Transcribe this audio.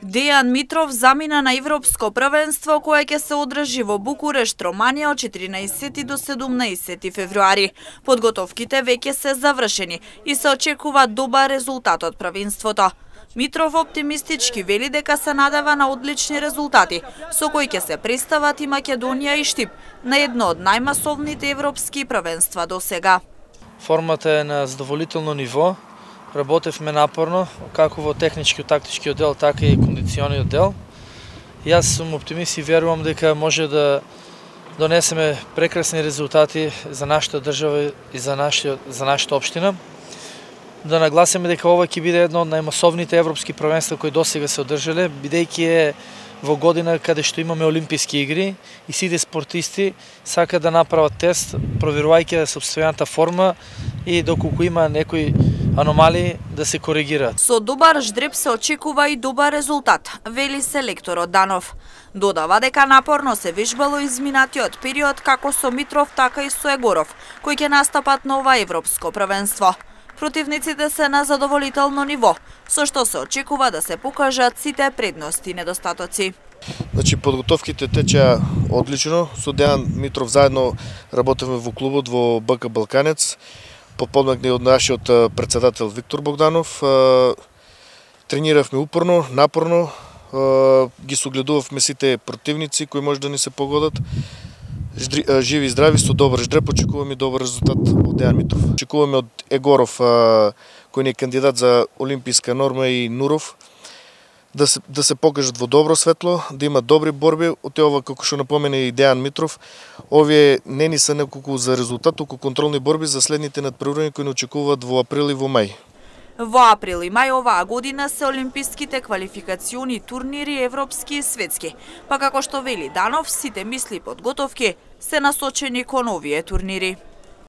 Дејан Митров замина на Европско првенство кое ќе се одржи во Букурешт, Романија од 14 до 17 февруари. Подготовките веќе се завршени и се очекува добар резултат од првенството. Митров оптимистички вели дека се надева на одлични резултати, со кои ќе се представат и Македонија и Штип на едно од најмасовните европски првенства до сега. Формата е на задоволително ниво. Работевме напорно, како во технички-тактички оддел, така и кондициони оддел. Јас сум оптимист и верувам дека може да донесеме прекрасни резултати за нашата држава и за нашата општина. Да нагласиме дека ова ќе биде едно од најмасовните европски првенства кои досега се одржале, бидејќи е во година каде што имаме олимписки игри и сите спортисти сакаат да направат тест, проверувајќи сопствената форма и доколку има некои аномалии да се коригираат. Со добар ждреб се очекува и добар резултат, вели селекторот Данов. Додава дека напорно се вежбало изминатиот период како со Митров, така и со Егоров, кои ќе настапат на ова европско првенство. Противниците се на задоволително ниво, со што се очекува да се покажат сите предности и недостатоци. Подготовките течеа одлично. Со Дејан Митров заедно работевме во клубот во БК Балканец. Подпомогнати од нашиот председател Виктор Богданов. Трениравме упорно, напорно, ги согледувавме сите противници кои може да ни се погодат. Живи и здрави, со добар ждреб, очекуваме добар резултат од Дејан Митров. Очекуваме од Егоров, кој не е кандидат за олимписка норма, и Нуров, да се покажат во добро светло, да имат добри борби. Од ова, како што напомена и Дејан Митров, овие не ни се неколку за резултат, туку контролни борби за следните надпревари кои не очекуваат во април и во мај. Во април и мај оваа година се олимписките квалификациони турнири европски и светски, па како што вели Данов, сите мисли и подготовки се насочени кон овие турнири.